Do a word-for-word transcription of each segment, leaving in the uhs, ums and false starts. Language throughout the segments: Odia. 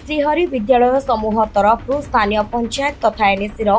ଶ୍ରୀହରି ବିଦ୍ୟାଳୟ ସମୂହ ତରଫରୁ ସ୍ଥାନୀୟ ପଞ୍ଚାୟତ ତଥା ଏନ୍ଏସିର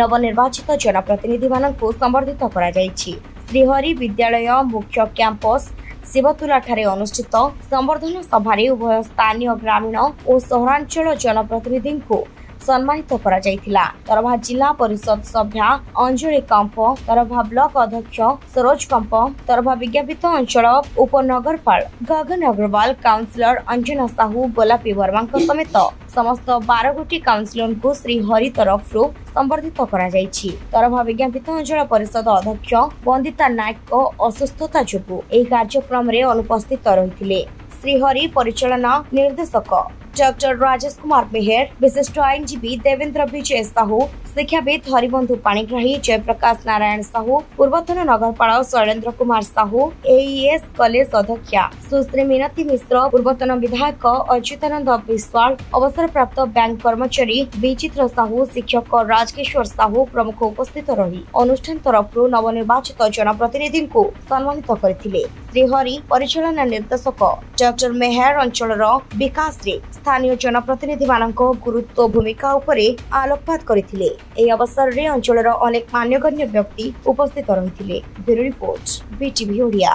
ନବନିର୍ବାଚିତ ଜନପ୍ରତିନିଧିମାନଙ୍କୁ ସମ୍ବର୍ଦ୍ଧିତ କରାଯାଇଛି। ଶ୍ରୀହରି ବିଦ୍ୟାଳୟ ମୁଖ୍ୟ କ୍ୟାମ୍ପସ ଶିବତୁଲାଠାରେ ଅନୁଷ୍ଠିତ ସମ୍ବର୍ଦ୍ଧନା ସଭାରେ ଉଭୟ ସ୍ଥାନୀୟ ଗ୍ରାମୀଣ ଓ ସହରାଞ୍ଚଳ ଜନପ୍ରତିନିଧିଙ୍କୁ ସମ୍ମାନିତ କରାଯାଇଥିଲା। ତରଭା ଜିଲ୍ଲା ପରିଷଦ ସଭ୍ୟା ଅଞ୍ଜଳି କମ୍ପ, ତରଭା ବ୍ଲକ ଅଧ୍ୟକ୍ଷ ସରୋଜ କମ୍ପ, ତରଭା ବିଜ୍ଞାପିତ ଅଞ୍ଚଳ ଉପନଗରପାଳ ଗଗନ ଅଗ୍ରୱାଲ, କାଉନସିଲର ଅଞ୍ଜନା ସାହୁ, ଗୋଲାପୀ ବର୍ମାଙ୍କ ସମେତ ସମସ୍ତ ବାର ଗୋଟି କାଉନସିଲରଙ୍କୁ ଶ୍ରୀହରି ତରଫରୁ ସମ୍ବର୍ଦ୍ଧିତ କରାଯାଇଛି। ତରଭା ବିଜ୍ଞାପିତ ଅଞ୍ଚଳ ପରିଷଦ ଅଧ୍ୟକ୍ଷ ବନ୍ଦିତା ନାୟକଙ୍କ ଅସୁସ୍ଥତା ଯୋଗୁଁ ଏହି କାର୍ଯ୍ୟକ୍ରମରେ ଅନୁପସ୍ଥିତ ରହିଥିଲେ। ଶ୍ରୀହରି ପରିଚାଳନା ନିର୍ଦ୍ଦେଶକ ଡକ୍ଟର ରାଜେଶ କୁମାର ମେହେର, ବିଶିଷ୍ଟ ଆଇନଜୀବୀ ଦେବେନ୍ଦ୍ର ବିଜୟ ସାହୁ, ଶିକ୍ଷାବିତ୍ ହରିବନ୍ଧୁ ପାଣିଗ୍ରାହୀ, ଜୟପ୍ରକାଶ ନାରାୟଣ ସାହୁ, ପୂର୍ବତନ ନଗରପାଳ ଶୈଳେନ୍ଦ୍ର କୁମାର ସାହୁ, ଏଇଏସ୍ କଲେଜ ଅଧ୍ୟକ୍ଷା ସୁଶ୍ରୀ ମିନତୀ ମିଶ୍ର, ପୂର୍ବତନ ବିଧାୟକ ଅଚ୍ୟୁତାନନ୍ଦ ବିଶ୍ୱାଳ, ଅବସରପ୍ରାପ୍ତ ବ୍ୟାଙ୍କ କର୍ମଚାରୀ ବିଚିତ୍ର ସାହୁ, ଶିକ୍ଷକ ରାଜକିଶୋର ସାହୁ ପ୍ରମୁଖ ଉପସ୍ଥିତ ରହି ଅନୁଷ୍ଠାନ ତରଫରୁ ନବନିର୍ବାଚିତ ଜନପ୍ରତିନିଧିଙ୍କୁ ସମ୍ମାନିତ କରିଥିଲେ। ଶ୍ରୀହରି ପରିଚାଳନା ନିର୍ଦ୍ଦେଶକ ଡକ୍ଟର ମେହେର ଅଞ୍ଚଳର ବିକାଶରେ ସ୍ଥାନୀୟ ଜନପ୍ରତିନିଧିମାନଙ୍କ ଗୁରୁତ୍ୱ ଭୂମିକା ଉପରେ ଆଲୋକପାତ କରିଥିଲେ। ଏହି ଅବସରରେ ଅଞ୍ଚଳର ଅନେକ ମାନ୍ୟଗଣ୍ୟ ବ୍ୟକ୍ତି ଉପସ୍ଥିତ ରହିଥିଲେ। Bureau report, BTV Odia.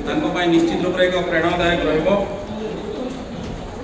ତାଙ୍କ ପାଇଁ ନିଶ୍ଚିତ ରୂପରେ ଏକ ପ୍ରେରଣାଦାୟକ ରହିବ।